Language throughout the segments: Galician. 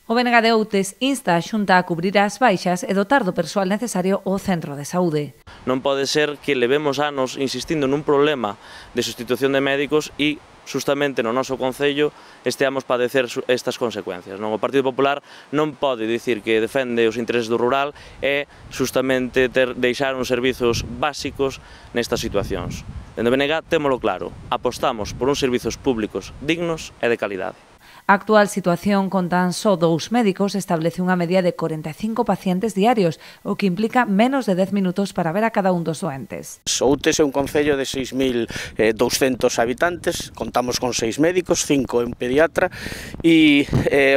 O BNG de Outes insta a Xunta a cubrir as baixas e dotar do persoal necesario ao centro de saúde. Non pode ser que levemos anos insistindo nun problema de sustitución de médicos e justamente no noso concello esteamos padecer estas consecuencias. O Partido Popular non pode dicir que defende os intereses do rural e justamente deixar uns servizos básicos nestas situacións. Dende o BNG témolo claro, apostamos por uns servizos públicos dignos e de calidade. A actual situación con tan só 2 médicos establece unha media de 45 pacientes diarios, o que implica menos de 10 minutos para ver a cada un dos doentes. Outes é un concello de 6.200 habitantes, contamos con 6 médicos, 5 en pediatra e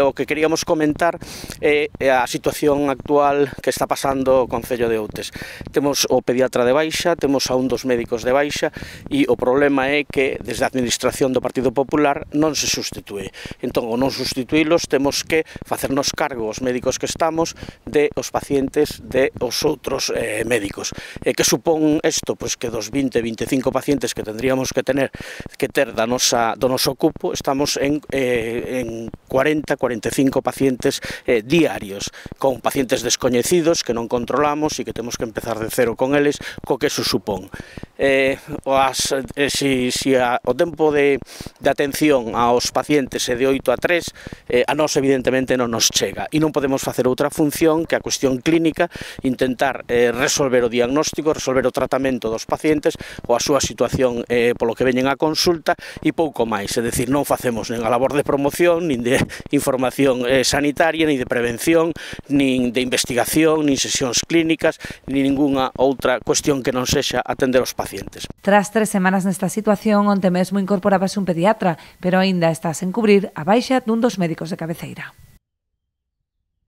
o que queríamos comentar é a situación actual que está pasando o concello de Outes. Temos o pediatra de baixa, temos a un dos médicos de baixa e o problema é que desde a administración do Partido Popular non se substitúe. Entón, ao non sustituílos, temos que facernos cargo os médicos que estamos de os pacientes de os outros médicos. E que supón isto? Pois que dos 20-25 pacientes que tendríamos que ter do noso cupo, estamos en 40-45 pacientes diarios, con pacientes descoñecidos que non controlamos e que temos que empezar de cero con eles, co que eso supón. O tempo de atención aos pacientes é de 8 a 3, a nós evidentemente non nos chega e non podemos facer outra función que a cuestión clínica, intentar resolver o diagnóstico, resolver o tratamento dos pacientes ou a súa situación polo que veñen á consulta e pouco máis, é dicir, non facemos nin a labor de promoción, nin de información sanitaria, nin de prevención, nin de investigación, nin sesións clínicas, nin ningunha outra cuestión que non sexa atender os pacientes. Tras 3 semanas nesta situación, onte mesmo incorporábase un pediatra, pero aínda está sen cubrir a baixa dun dos médicos de cabeceira.